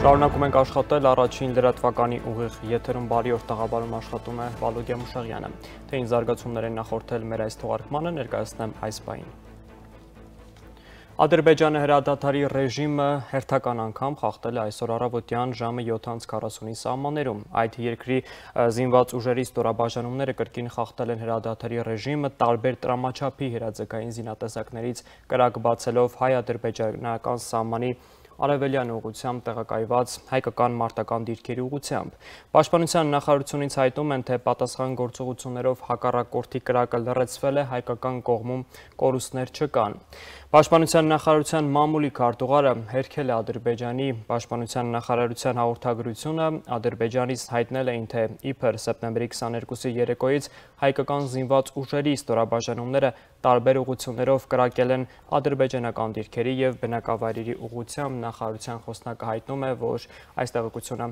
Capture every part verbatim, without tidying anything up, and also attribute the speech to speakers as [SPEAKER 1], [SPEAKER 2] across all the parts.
[SPEAKER 1] Շարունակում ենք աշխատել առաջին լրատվականի ուղիղ եթերում բարի օր տաղավարում աշխատում է Վալոգիա Մուշաղյանը։ Թե ինչ զարգացումներ են նախորդել մեր այս թողարկմանը, ներկայացնեմ այս պահին։ Ադրբեջանը հրադադարի ռեժիմը հերթական անգամ խախտել է այսօր առավոտյան ժամը յոթ քառասունի սահմաններում։ Այդ երկրի զինված ուժերի ստորաբաժանումները կրկին խախտել են հրադադարի ռեժիմը տարբեր տրամաչափի հրաձգային զինատեսակներից կրակ բացելով հայ-ադրբեջանական սահմանի արևելյան ուղղությամբ տեղակայված հայկական մարտական դիրքերի ուղղությամբ։ Պաշտպանության նախարարությունից հայտնում են, թե պատասխան գործողություններով հակառակորդի կրակը լռեցվել է, հայկական կողմում կորուստներ չկան։ Պաշտպանության նախարարության մամուլի քարտուղարը հերքել է Ադրբեջանի պաշտպանության նախարարության հաղորդագրությունը, Ադրբեջանից հայտնել էին, թե իբր սեպտեմբերի քսաներկուսի երեկոյից հայկական զինված ուժերի ստորաբաժանումները տարբեր ուղղություններով կրակել են ադրբեջանական դիրքերի և բնակավայրերի ուղղությամբ։ Նախարարության խոսնակը հայտնում է, որ այս տեղեկությունը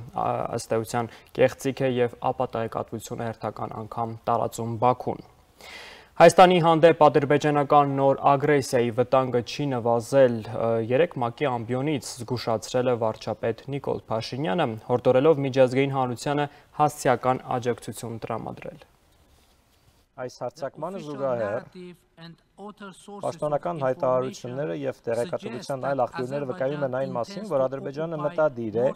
[SPEAKER 1] ըստ էության կեղծիք է և ապատահայտությունը հերթական անգամ տարածում Բաքուն։ Հայաստանի հանդեպ ադրբեջանական նոր ագրեսիայի վտանգը չի նվազել, երեկ ՄԱԿ-ի ամբիոնից զգուշացրել է վարչապետ Նիկոլ Փաշինյանը, հորդորելով միջազգային հանրությանը հասցեական աջակցություն տրամադրել։
[SPEAKER 2] Այս հարձակմանը զուգահեռ պաշտոնական հայտարարությունները և տեղեկատվության այլ աղբյուրները վկայում են այն մասին, որ Ադրբեջանը մտադիր է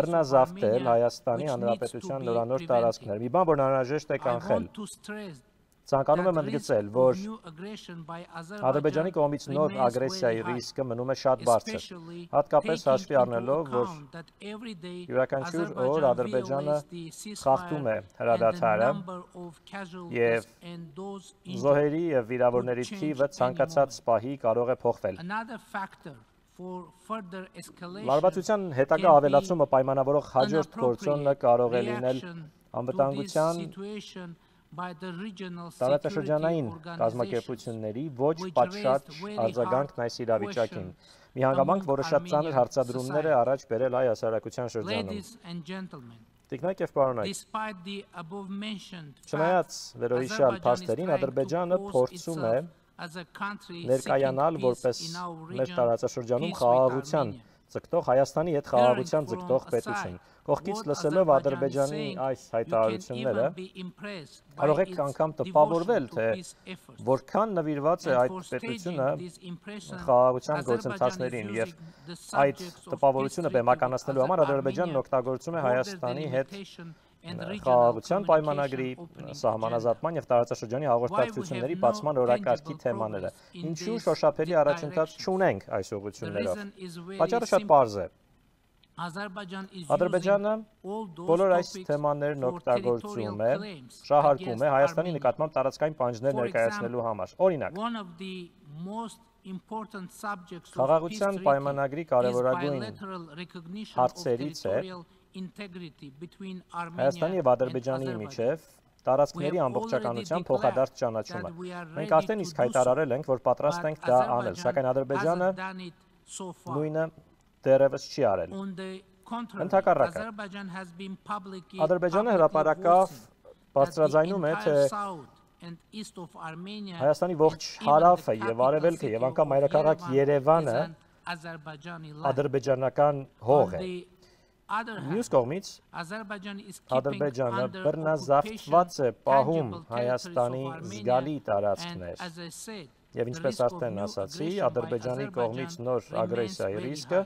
[SPEAKER 2] բռնազավթել Հայաստանի Հանրապետության նորանոր տարածքներ, մի բան, որ անհրաժեշտ է կանխել։ Ցանկանում եմ ընդգծել, որ Ադրբեջանի կողմից նոր ագրեսիայի ռիսկը մնում է շատ բարձր, հատկապես հաշվի առնելով, որ յուրաքանչյուր օր Ադրբեջանը խախտում է հրադադարը և զոհերի և վիրավորների թիվը ցանկացած պահի կարող է փոխվել։ Լարվածության հետագա ավելացումը պայմանավորող հաջորդ գործոնը կարող է լինել անվտանգության տարածաշրջանային կազմակերպությունների ոչ պատշաճ արձագանքն այս իրավիճակին, մի հանգամանք, որը շատ ծանր հարցադրումներ է առաջ բերել հայ հասարակության շրջանում։ Տիկնայք և պարոնայք, չնայած վերոհիշյալ փաստերին, Ադրբեջանը փորձում է ներկայանալ որպես մեր տարածաշրջանում խաղաղության ձգտող, Հայաստանի հետ խաղաղության ձգտող պետություն։ Կողքից լսելով Ադրբեջանի այս հայտարարությունները, կարող եք անգամ տպավորվել, թե որքան նվիրված է այդ պետությունը խաղաղության գործընթացներին, և այդ տպավորությունը բեմականացնելու համար Ադրբեջանն օգտագործում է Հայաստանի հետ խաղաղության պայմանագրի, սահմանազատման և տարածաշրջանի հաղորդակցությունների բացման օրակարգի թեմաները։ Ինչու շոշափելի առաջընթաց չունենք այս ուղղություններով։ Պատճառը շատ պարզ է։ Ադրբեջանը բոլոր այս թեմաներն օգտագործում է, շահարկում է Հայաստանի նկատմամբ տարածքային պահանջներ ներկայացնելու համար։ Օրինակ, խաղաղության պայմանագրի կարևորագույն հարցերից է Հայաստանի և Ադրբեջանի միջև տարածքների ամբողջականության փոխադարձ ճանաչումը։ Մենք արդեն իսկ հայտարարել ենք, որ պատրաստ ենք դա անել, սակայն Ադրբեջանը նույնը դեռևս չի արել։ Ընդհակառակը, Ադրբեջանը հրապարակավ բարձրաձայնում է, թե Հայաստանի ողջ հարավը և արևելքը և անգամ մայրաքաղաք Երևանը ադրբեջանական հող է։ Մյուս կողմից, Ադրբեջանը բռնազավթված է պահում Հայաստանի զգալի տարածքներ, և ինչպես արդեն ասացի, Ադրբեջանի կողմից նոր ագրեսիայի ռիսկը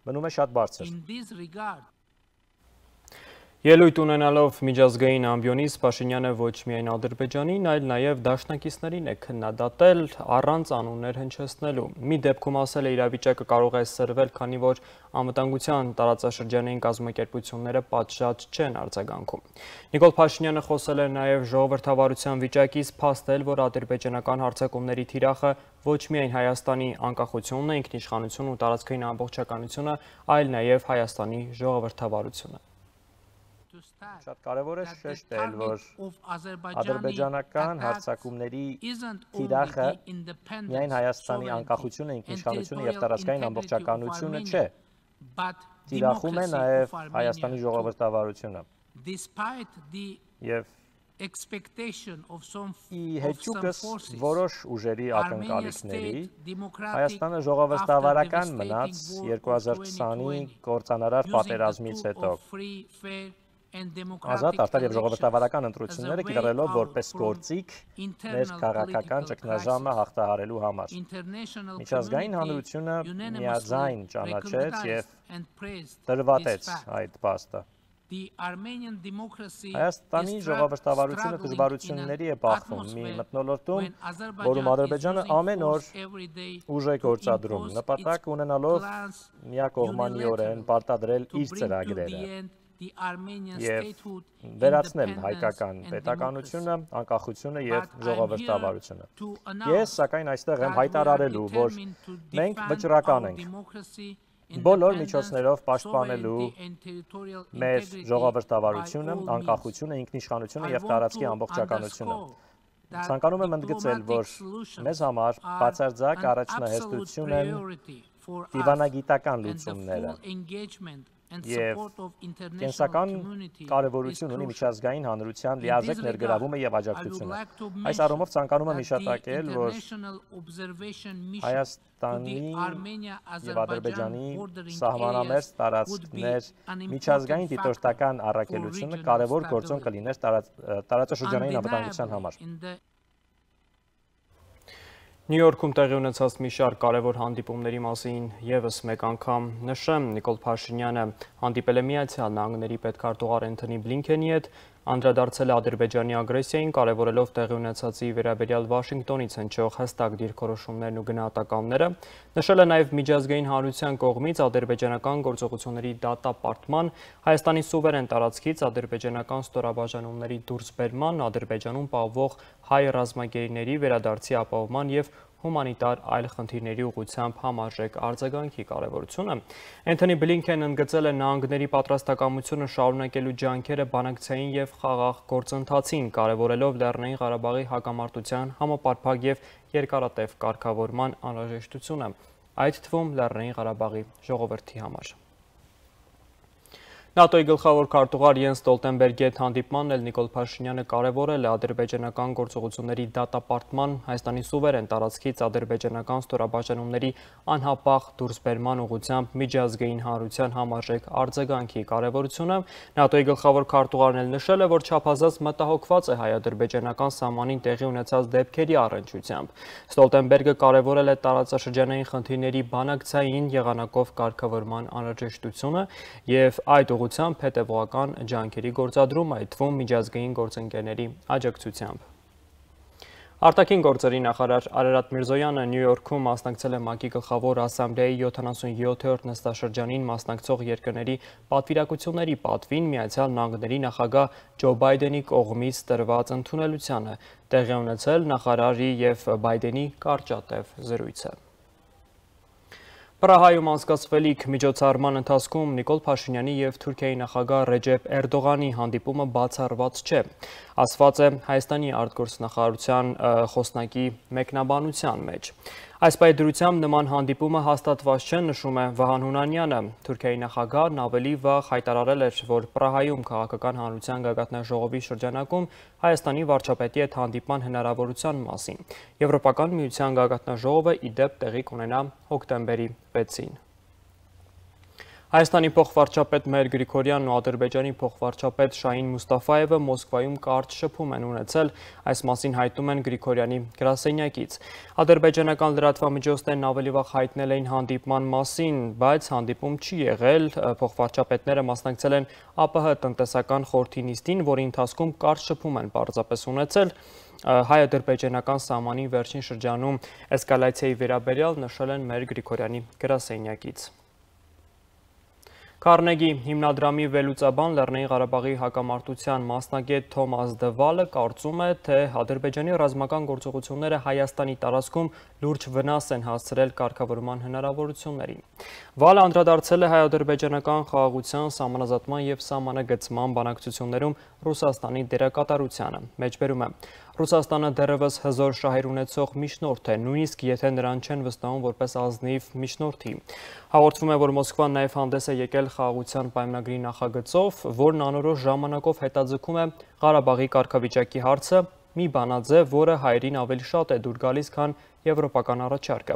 [SPEAKER 2] մնում է շատ բարձր։
[SPEAKER 1] Ելույթ ունենալով միջազգային ամբիոնից Փաշինյանը ոչ միայն Ադրբեջանին, այլ նաև դաշնակիցներին է քննադատել առանց անուններ հնչեցնելու։ Մի դեպքում ասել է, իրավիճակը կարող է սրվել, քանի որ անվտանգության տարածաշրջանային կազմակերպությունները պատշաճ չեն արձագանքում։ Նիկոլ Փաշինյանը խոսել է նաև ժողովրդավարության վիճակից, փաստել, որ ադրբեջանական հարձակումների թիրախը ոչ միայն Հայաստանի անկախությունն է, ինքնիշխանությունն ու տարածքային ամբողջականությունը, այլ նաև Հայաստանի ժողովրդավարությունը։
[SPEAKER 2] Շատ կարևոր է շեշտել, որ ադրբեջանական հարձակումների թիրախը միայն Հայաստանի անկախությունը, ինքնիշխանությունը և տարածքային ամբողջականությունը չէ, թիրախում է նաև Հայաստանի ժողովրդավարությունը։ Եվ ի հեճուկս որոշ ուժերի ակնկալիքների Հայաստանը ժողովրդավարական մնաց երկու հազար քսանի կործանարար պատերազմից հետո։ Ազատ, արդար և ժողովրդավարական ընտրությունները կիրառելով որպես գործիք մեր քաղաքական ճգնաժամը հաղթահարելու համար։ Միջազգային հանրությունը միաձայն ճանաչեց և տրվատեց այդ փաստը։ Հայաստանի ժողովրդավարությունը դժվարությունների է բախվում մի մթնոլորտում, որում Ադրբեջանը ամեն օր ուժ է գործադրում, նպատակ ունենալով միակողմանիորեն պարտադրել իր ծրագրերը և վերացնել հայկական պետականությունը, անկախությունը և ժողովրդավարությունը։ Ես, սակայն, այստեղ եմ հայտարարելու, որ մենք վճռական ենք բոլոր միջոցներով պաշտպանելու մեր ժողովրդավարությունը, անկախությունը, ինքնիշխանությունը և տարածքի ամբողջականությունը։ Ցանկանում եմ ընդգծել, որ մեզ համար բացարձակ առաջնահերթություն են դիվանագիտական լուծումները և կենսական կարևորություն ունի միջազգային հանրության լիարժեք ներգրավումը և աջակցությունը։ Այս առումով ցանկանում եմ հիշատակել, որ Հայաստանի և Ադրբեջանի սահմանամերձ տարածքներ միջազգային դիտորդական առաքելությունը կարևոր գործոն կլիներ տարածաշրջանային անվտանգության համար։
[SPEAKER 1] Նյու Յորքում տեղի ունեցած մի շարք կարևոր հանդիպումների մասին ևս մեկ անգամ նշեմ, Նիկոլ Փաշինյանը հանդիպել է Միացյալ Նահանգների պետքարտուղար Էնթոնի Բլինքենի հետ, անդրադարձել է Ադրբեջանի ագրեսիային, կարևորելով տեղի ունեցածի վերաբերյալ Վաշինգտոնից հնչող հստակ դիրքորոշումներն ու գնահատականները, նշել է նաև միջազգային հանրության կողմից ադրբեջանական գործողությունների դատապարտման, Հայաստանի սուվերեն տարածքից ադրբեջանական ստորաբաժանումների դուրսբերման, Ադրբեջանում պահվող հայ ռազմագերիների վերադարձի ապահովման և հումանիտար այլ խնդիրների ուղղությամբ համարժեք արձագանքի կարևորությունը։ Էնթոնի Բլինքենն ընդգծել է նահանգների պատրաստակամությունը շարունակելու ջանքերը բանակցային և խաղաղ գործընթացին, կարևորելով Լեռնային Ղարաբաղի հակամարտության համապարփակ և երկարատև կարգավորման անհրաժեշտությունը, այդ թվում Լեռնային Ղարաբաղի ժողովրդի համար։ ՆԱՏՕ-ի գլխավոր քարտուղար Յենս Ստոլտենբերգի հետ հանդիպմանն էլ Նիկոլ Փաշինյանը կարևորել է ադրբեջանական գործողությունների դատապարտման, Հայաստանի սուվերեն տարածքից ադրբեջանական ստորաբաժանումների անհապաղ դուրսբերման ուղղությամբ միջազգային հանրության համարժեք արձագանքի կարևորությունը։ ՆԱՏՕ-ի գլխավոր քարտուղարն էլ նշել է, որ չափազանց մտահոգված է հայ-ադրբեջանական սահմանին տեղի ունեցած դեպքերի առնչությամբ։ Ստոլտենբերգը կարևորել է տարածաշրջանային խնդիրների բանակցային եղանակով կարգավորման անհրաժեշտությունը և այդ ուղղությամբ հետևողական ջանքերի գործադրում, այդ թվում միջազգային գործընկերների աջակցությամբ։ Արտաքին գործերի նախարար Արարատ Միրզոյանը Նյու Յորքում մասնակցել է ՄԱԿ-ի գլխավոր ասամբլեայի յոթանասունյոթերորդ նստաշրջանին մասնակցող երկրների պատվիրակությունների պատվին Միացյալ Նահանգների նախագահ Ջո Բայդենի կողմից տրված ընդունելությանը, տեղի ունեցել նախարարի և Բայդենի կարճատև զրույցը։ Պրահայում անցկացվելիք միջոցառման ընթացքում Նիկոլ Փաշինյանի և Թուրքիայի նախագահ Ռեջեփ Էրդողանի հանդիպումը բացառված չէ, ասված է Հայաստանի արտգործնախարարության խոսնակի մեկնաբանության մեջ։ Այս պայդրությամբ նման հանդիպումը հաստատված չէ, նշում է Վահան Հունանյանը։ Թուրքիայի նախագահն ավելի վաղ հայտարարել էր, որ Պրահայում քաղաքական հանրության գագաթնաժողովի շրջանակում Հայաստանի վարչապետի հետ հանդիպման հնարավորության մասին։ Եվրոպական միության գագաթնաժողովը ի դեպ տեղի կունենա հոկտեմբերի վեցին։ Հայաստանի փոխվարչապետ Մհեր Գրիգորյանն ու Ադրբեջանի փոխվարչապետ Շահին Մուստաֆայևը Մոսկվայում կարճ շփում են ունեցել, այս մասին հայտնում են Գրիգորյանի գրասենյակից։ Ադրբեջանական լրատվամիջոցներն ավելի վաղ հայտնել էին հանդիպման մասին, բայց հանդիպում չի եղել, փոխվարչապետները մասնակցել են ԱՊՀ տնտեսական խորհրդի նիստին, որի ընթացքում կարճ շփում են պարզապես ունեցել։ Հայ-ադրբեջանական սահմանի վերջին շրջանում էսկալացիայի վերաբերյալ նշել են Մհեր Գրիգորյանի գրասենյակից։ Քարնեգի հիմնադրամի վերլուծաբան Լեռնային Ղարաբաղի հակամարտության մասնագետ Թոմաս Դվալը կարծում է, թե Ադրբեջանի ռազմական գործողությունները Հայաստանի տարածքում լուրջ վնաս են հասցրել կարգավորման հնարավորություններին։ Վալը անդրադարձել է հայ-ադրբեջանական խաղաղության, սահմանազատման և սահմանագծման բանակցություններում Ռուսաստանի դերակատարությանը։ Մեջբերում է, Ռուսաստանը դեռևս հզոր շահեր ունեցող միջնորդ է, նույնիսկ եթե նրան չեն վստահում որպես ազնիվ միջնորդի։ Հաղորդվում է, որ Մոսկվան նաև հանդես է եկել խաղաղության պայմանագրի նախագծով, որն անորոշ ժամանակով հետաձգում է Ղարաբաղի կարգավիճակի հարցը, մի բանաձև, որը հայերին ավելի շատ է դուր գալիս, քան եվրոպական առաջարկը։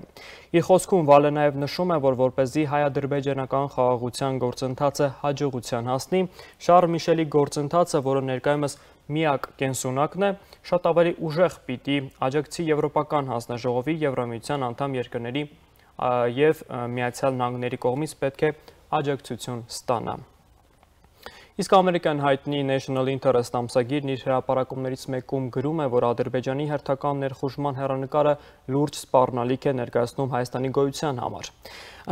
[SPEAKER 1] Իր խոսքում Վալը նաև նշում է, որ որպեսզի հայ-ադրբեջանական խաղաղության գործընթացը հաջողության հասնի, Շարլ Միշելի գործընթացը, որը ներկայումս միակ կենսունակն է, շատ ավելի ուժեղ պիտի աջակցի Եվրոպական հանձնաժողովի, Եվրամիության անդամ երկրների և Միացյալ Նահանգների կողմից պետք է աջակցություն ստանա։ Իսկ ամերիկյան հայտնի National Interest ամսագիրն իր հրապարակումներից մեկում գրում է, որ Ադրբեջանի հերթական ներխուժման հեռանկարը լուրջ սպառնալիք է ներկայացնում Հայաստանի գոյության համար։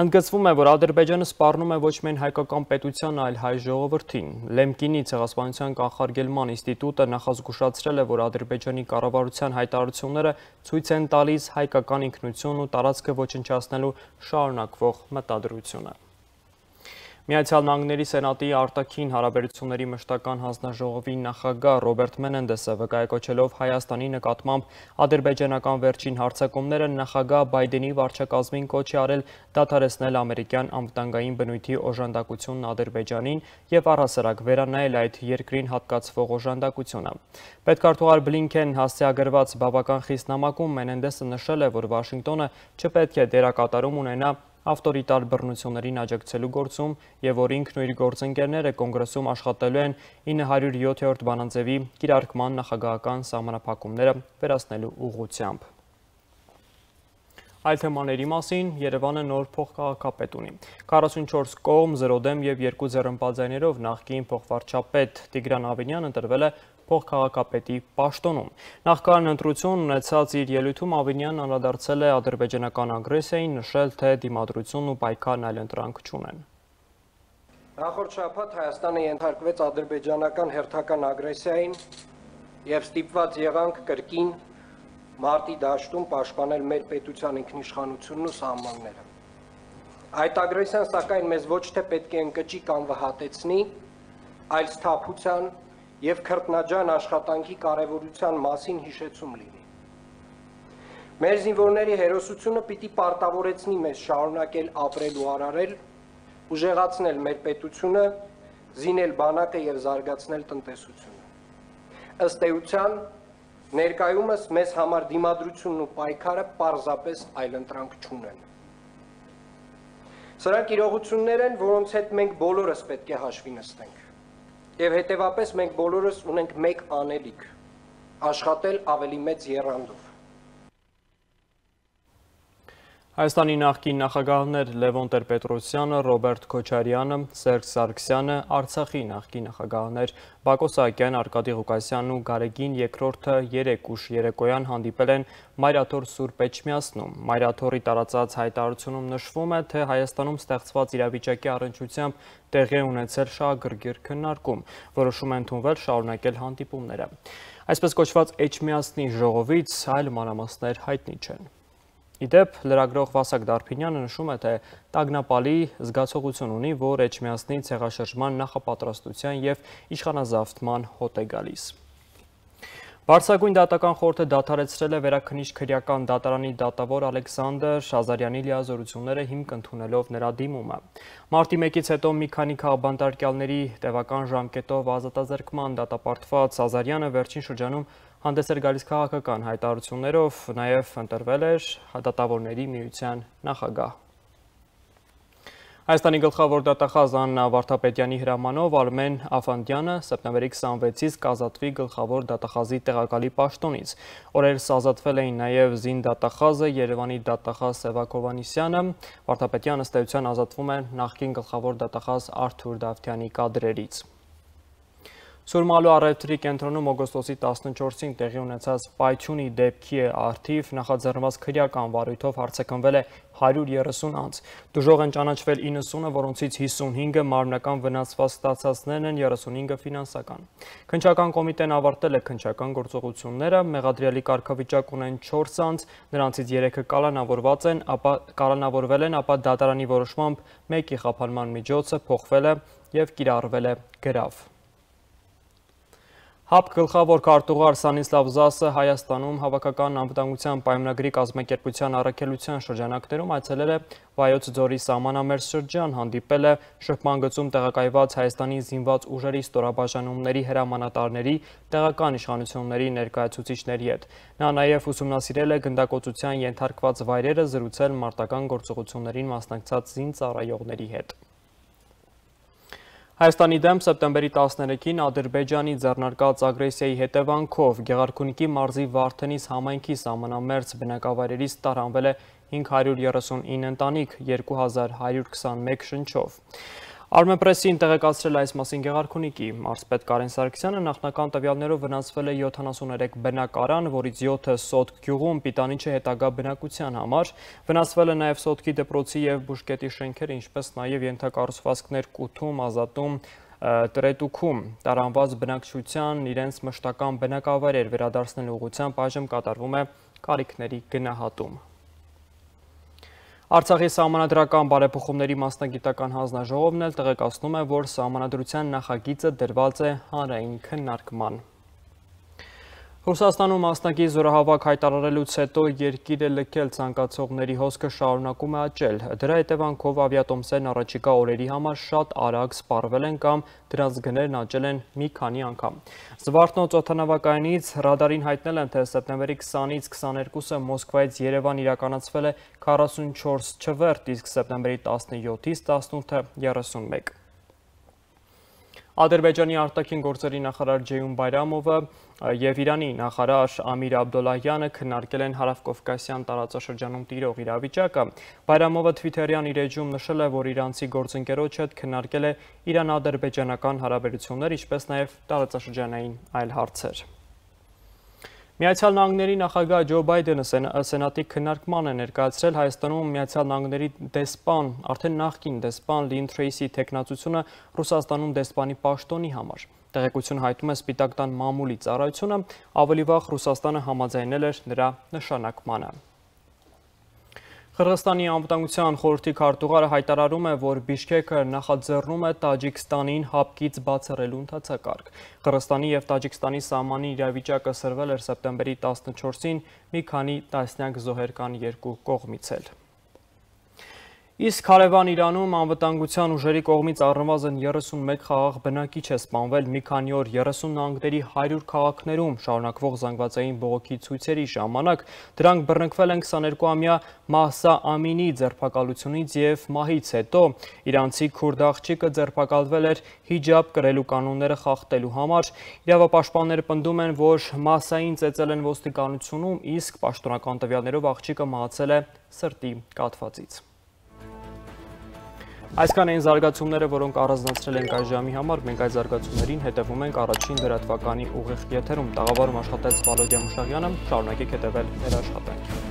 [SPEAKER 1] Ընդգծվում է, որ Ադրբեջանը սպառնում է ոչ միայն հայկական պետության, այլ հայ ժողովրդին։ Լեմկինի ցեղասպանության կանխարգելման ինստիտուտը նախազգուշացրել է, որ Ադրբեջանի կառավարության հայտարարությունները ցույց են տալիս հայկական ինքնություն ու տարածքը ոչնչացնելու շարունակվող մտադրությունը։ Միացյալ Նահանգների Սենատի արտաքին հարաբերությունների մշտական հանձնաժողովի նախագահ Ռոբերտ Մենենդեսը վկայակոչելով Հայաստանի նկատմամբ ադրբեջանական վերջին հարձակումները նախագահ Բայդենի վարչակազմին կոչ է արել դադարեցնել ամերիկյան անվտանգային բնույթի օժանդակությունն Ադրբեջանին եւ առհասարակ վերանայել այդ երկրին հատկացվող օժանդակությունը։ Պետքարտուղար Բլինքեն հասցեագրված բավական խիստ նամակում Մենենդեսը նշել է, որ Վաշինգտոնը չպետք է դերակատարում ունենա ավտորիտար բռնություններին աջակցելու գործում եւ որ ինքն ու իր գործընկերները կոնգրեսում աշխատելու են ինը հարյուր յոթերորդ բանաձևի կիրարկման նախագահական սահմանափակումները վերացնելու ուղղությամբ։ Այլ թեմաների մասին Երևանը նոր փոխքաղաքապետ ունի։ քառասունչորս կողմ, զրո դեմ եւ երկու ձեռնպատձայներով նախկին փոխվարչապետ Տիգրան Ավինյանն ընտրվել է փոխքաղաքապետի պաշտոնում։ Նախքան ընտրություն ունեցած իր ելույթում Ավինյանն անդրադարձել է ադրբեջանական ագրեսիային, նշել, թե դիմադրությունն ու պայքարն այլ ընտրանք չունեն։
[SPEAKER 3] Նախորդ շաբաթ Հայաստանը ենթարկվեց ադրբեջանական հերթական ագրեսիային եւ ստիպված եղանք կրկին մարտի դաշտում պաշտպանել մեր պետության ինքնիշխանությունն ու սահմանները։ Այդ ագրեսիան սակայն մեզ ոչ թե պետք է ընկճի կամ վհատեցնի, այլ սթափության եւ քրտնաջան աշխատանքի կարևորության մասին հիշեցում լինի։ Մեր զինվորների հերոսությունը պիտի պարտավորեցնի մեզ շարունակել ապրել ու արարել, ուժեղացնել մեր պետությունը, զինել բանակը եւ զարգացնել տնտեսությունը։ Ըստ էության, ներկայումս մեզ համար դիմադրությունն ու պայքարը պարզապես այլընտրանք չունեն։ Սրանք իրողություններ են, որոնց հետ մենք բոլորս պետք է հաշվի նստենք։ Եվ հետևապես մենք բոլորս ունենք մեկ անելիք՝ աշխատել ավելի մեծ եռանդով։
[SPEAKER 1] Հայաստանի նախկին նախագահներ Լևոն Տեր-Պետրոսյանը, Ռոբերտ Քոչարյանը, Սերժ Սարգսյանը, Արցախի նախկին նախագահներ Բակո Սահակյանն, Արկադի Ղուկասյանն ու Գարեգին երկրորդը երեք ուշ երեկոյան հանդիպել են Մայրաթոր Սուրբ Էջմիածնում։ Մայրաթորի տարածած հայտարարությունում նշվում է, թե Հայաստանում ստեղծված իրավիճակի առնչությամբ տեղի է ունեցել շահագրգիռ քննարկում, որոշում է ընդունվել շարունակել հանդիպումները։ Այսպես կոչված Էջմիածնի ժողովից այլ մանրամասներ հայտնի չեն։ Իդեպ լրագրող Վասակ Դարփինյանը նշում է, թե տագնապալի զգացողություն ունի, որ Էջմիածնի ցեղաշրջման նախապատրաստության եւ իշխանազավթման հոտ է գալիս։ Բարձրագույն դատական խորհուրդը դադարեցրել է Վերաքննիչ-քրեական դատարանի դատավոր Ալեքսանդր Ազարյանի լիազորությունները հիմք ընդունելով նրա դիմումը։ Մարտի մեկից հետո մի քանի քաղբանտարկյալների տևական ժամկետով ազատազրկման դատապարտված Ազարյանը վերջին շրջանում հանդես էր գալիս քաղաքական հայտարարություններով, նաև ընտրվել էր դատավորների միության նախագահ։ Հայաստանի գլխավոր դատախազ Աննա Վարդապետյանի հրամանով Արմեն Աֆանդյանը սեպտեմբերի քսանվեցից կազատվի գլխավոր դատախազի տեղակալի պաշտոնից։ Օրերս ազատվել էին նաև զին դատախազը Երևանի դատախազ Սևակ Հովհաննիսյանը։ Վարդապետյանը ըստ էության ազատվում է նախկին գլխավոր դատախազ Արթուր Դավթյանի կադրերից։ Սուրմալու առևտրի կենտրոնում օգոստոսի տասնչորսին տեղի ունեցած պայթյունի դեպքի առթիվ նախաձեռնված քրեական վարույթով հարցեկնվել է հարյուր երեսուն անձ։ Դժոխք են ճանաչվել իննսունը, որոնցից հիսունհինգը մարմնական վնասված ստացածներն են, երեսունհինգը ֆինանսական։ Քննչական կոմիտեն ավարտել է քննչական գործողությունները, մեղադրյալի կարգավիճակ ունեն չորս անձ, նրանցից երեքը կալանավորված են, ապա կալանավորվել են, ապա դատարանի որոշմամբ մեկի խափանման միջոցը փոխվել է եւ կիրառվել է գրավ։ ՀԱՊ գլխավոր քարտուղար Սանիսլավ Զասը Հայաստանում հավաքական անվտանգության պայմանագրի կազմակերպության առաքելության շրջանակներում այցելել է Վայոց ձորի սահմանամերձ շրջան, հանդիպել է շփման գծում տեղակայված Հայաստանի զինված ուժերի ստորաբաժանումների հրամանատարների, տեղական իշխանությունների ներկայացուցիչների հետ։ Նա նաև ուսումնասիրել է գնդակոծության ենթարկված վայրերը, զրուցել մարտական գործողություններին մասնակցած զինծառայողների հետ։ Հայաստանի դեմ սեպտեմբերի տասներեքին Ադրբեջանի ձեռնարկած ագրեսիայի հետևանքով Գեղարքունիքի մարզի Վարդենիս համայնքի սահմանամերձ բնակավայրերից տարանվել է հինգ հարյուր երեսունինը ընտանիք, երկու հազար հարյուր քսանմեկ շնչով։ Armenpress-ին տեղեկացրել այս մասին Գեղարքունիքի մարզպետ Կարեն Սարգսյանը նախնական տվյալներով վնասվել է յոթանասուներեք բնակարան, որից յոթը Սոտք գյուղում Պիտանիչի հետագա բնակության համար, վնասվել է նաև Սոտքի դպրոցի և բուժկետի շենքերը, ինչպես նաև ենթակառուցվածքներ Կութում, Ազատում, Տրետուքում, տարանված բնակչության իրենց մշտական բնակավայրեր վերադարձնելու ուղղությամբ այժմ կատարվում է կարիքների գնահատում։ Արցախի սահմանադրական բարեփոխումների մասնագիտական հանձնաժողովն էլ տեղեկացնում է, որ սահմանադրության նախագիծը դրված է հանրային քննարկման։ Ռուսաստանում մասնակի զորահավաք հայտարարելուց հետո երկիրը լքել ցանկացողների հոսքը շարունակում է աճել։ Դրա հետևանքով ավիատոմսերն առաջիկա օրերի համար շատ արագ սպառվել են կամ դրանց գներն աճել են մի քանի անգամ։ Զվարթնոց օդանավակայանից ռադարին հայտնել են, թե սեպտեմբերի քսանից քսաներկուսը Մոսկվայից Երևան իրականացվել է քառասունչորս չվերթ, իսկ սեպտեմբերի տասնյոթից տասնութը երեսունմեկ։ Ադրբեջանի արտաքին գործերի նախարար Ջեյուն Բայրամովը և Իրանի նախարար Ամիր Աբդոլլահյանը քննարկել են Հարավկովկասյան տարածաշրջանում տիրող իրավիճակը։ Բայրամովը Թվիթերյան իր էջում նշել է, որ իրանցի գործընկերոջ հետ քննարկել է իրան-ադրբեջանական հարաբերություններ, ինչպես նաև տարածաշրջանային այլ հարցեր։ Միացյալ Նահանգների նախագահ Ջո Բայդենը սենատի քննարկման է ներկայացրել Հայաստանում Միացյալ Նահանգների դեսպան, արդեն նախկին դեսպան Լին Թրեյսի թեկնածությունը Ռուսաստանում դեսպանի պաշտոնի համար։ Տեղեկություն հայտնում է Սպիտակ տան մամուլի ծառայությունը, ավելի վաղ Ռուսաստանը համաձայնել էր նրա նշանակմանը։ Қырғызստանի անվտանգության խորհրդի քարտուղարը հայտարարում է, որ Բիշքեքը նախաձեռնում է Տաջիկստանին ՀԱՊԿ-ից բացառելու ընթացակարգ։ Қырղызստանի և Տաջիկստանի սահմանի իրավիճակը սրվել էր սեպտեմբերի տասնչորսին մի քանի տասնյակ զոհեր կան երկու կողմից էլ։ Իսկ հարևան Իրանում անվտանգության ուժերի կողմից առնվազն երեսունմեկ խաղաղ բնակիչ է սպանվել մի քանի օր երեսուն նահանգների հարյուր քաղաքներում շարունակվող զանգվածային բողոքի ցույցերի ժամանակ։ Դրանք բռնկվել են քսաներկուամյա Մահսա Ամինի ձերբակալությունից և մահից հետո։ Իրանցի քուրդ աղջիկը ձերբակալվել էր հիջաբ կրելու կանոնները խախտելու համար։ Իրավապաշտպանները պնդում են, որ Մահսային ծեծել են ոստիկանությունում, իսկ պաշտոնական տվյալներով աղջիկը մահացել է սրտի կաթվածից։ Այսքան էին զարգացումները, որոնք առանձնացրել ենք այս ժամի համար, մենք այդ զարգացումներին հետևում ենք առաջին լրատվականի ուղիղ եթերում։ Տաղավարում աշխատեց Վալոդիա Մուշաղյանը, շարունակեք հետևել մեր աշխատանքին։